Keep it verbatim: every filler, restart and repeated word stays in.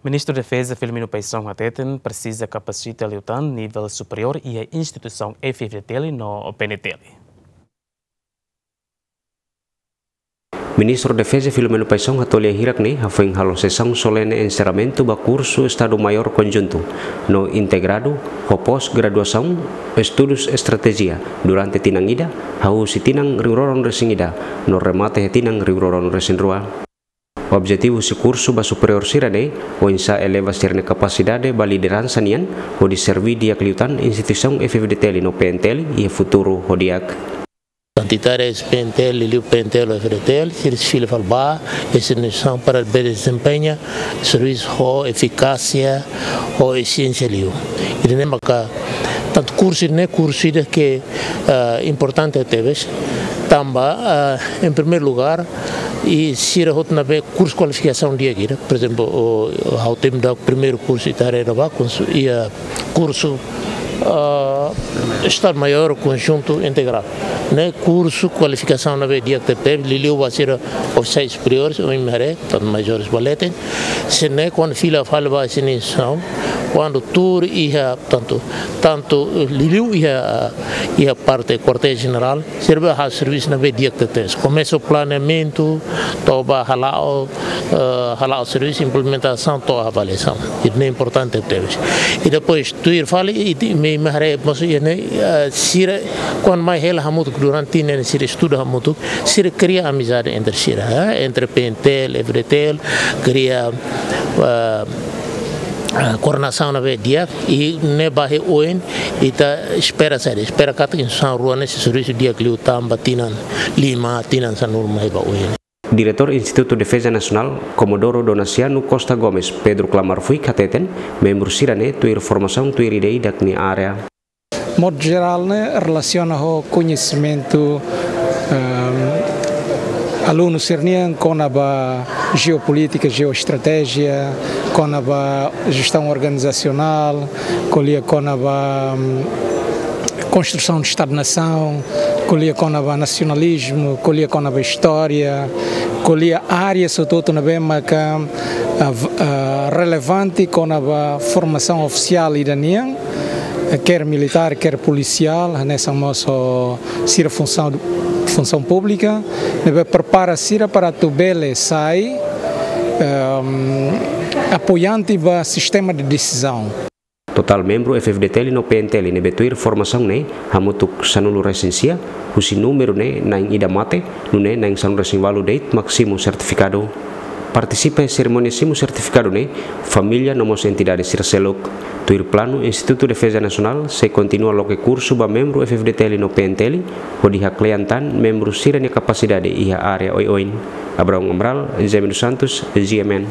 Ministru Defeza Filomeno Paixão hateten presiza kapasita liután nivel superiór iha instituisaun F-FDTL no PNTL. Ministru Defeza Filomeno Paixão hato'o lia hirak ne'e hafoin halo sesaun solene enserramentu ba kursu Estadu Maiór Konjuntu no Integradu ho pós-graduasaun Estudus Estratéjia durante tinan ida, hahú husi tinan rihun rua ruanulu resin ida no remata iha tinan rihun rua ruanulu resin rua. Objetivu husi kursu ba superiór sira-ne'e oinsá eleva sira-nia kapasidade ba lideransa nian hodi serbí di'ak liután instituisaun F-FDTL no PNTL iha futuru ho di'ak. Ita haree husi PNTL, liuliu PNTL ho F-FDTL, sira sei fila fali ba, esse instituisaun para bele dezempeña servisu ho efikásia, ho efisénsia liu. Ida-ne'e maka, tantu kursu ne'e kursu ida ke, ah, importante tebes, tanba, ah, em primeiro lugar, i sira hotu ne'ebé kursu kualifikasaun di'ak ida, por ezemplu, o, ha'u temi daudauk primeiru kursu ita haree ba, kursu, iha kursu, ah, Estadu Maiór Konjuntu Integradu. Ne'e kursu kualifikasaun ne'ebé di'ak tebes, liuliu ba sira ofisiais superiores, ohin imi haree, tantu majór ba leten. Sira-ne'e kuandu fila fali ba sira-nia instituisaun, kuandu tuur iha tantu, tantu, eh, liuliu iha, iha parte kuartél jenerál, sira bele halo servisu ne'ebé di'ak tebes. Komesa planeamentu, to'o ba hala'o, eh, hala'o servisu implementasaun to'o avaliasaun. Ida-ne'e importante tebes. I depois, tuir fali, i ti, imi, imi haree, mós ida-ne'e, eh, sira, kuandu mai hela hamutuk durante tinan ne'e sira estuda hamutuk, sira kria amizade entre sira, eh, entre PNTL, F-FDTL, kria, eh, eh, koordenasaun ne'ebé di'ak, i ne'e ba iha oin, ita espera saida, espera katak instituisaun rua ne'e sei servisu di'ak liután ba tinan lima, tinan sanulu mai ba oin. Diretór Institutu Defeza Nasionál, Comodoro Donaciano Costa Gomes, Pedro Klamar Fuik hateten, membru sira-ne'e tuir formasaun tuir ida-idak nia área. Modu jerál ne'e relasiona ho koñesimentu, ehm, alunu sira-nian kona-ba jeopolítika, jeoestratéjia, kona-ba jestaun organizasionál, ko'alia kona-ba, mm, konstrusaun de Estadu-nasaun, ko'alia kona-ba nasionalizmu, ko'alia kona-ba istória, ko'alia área, sobretudu, ne'ebé maka, ah, v-, ah, relevante kona-ba formasaun ofisiál ida nian, eh, quer militár, quer polisiál, hanesan mós ho sira funsaun, funsaun públika, ne'ebé prepara sira para atu bele sai, ehm, apoiante ba sistema de desizaun. Totál membru F-FDTL no PNTL ne'ebé tuir formasaun ne'e hamutuk sanulu resin sia, husi númeru ne'e na'in ida mate, nune'e na'in sanulu resin ualu de'it mak simu sertifikadu. Partisipa iha serimónia simu sertifikadu ne'e família no mós entidade sira seluk. Tuir planu, Institutu Defeza Nasionál sei kontinua loke kursu ba membru F-FDTL no PNTL, hodi haklean tan membru sira-nia kapasidade iha área oioin. Abraão Amaral, Jaime dos Santos, G M N.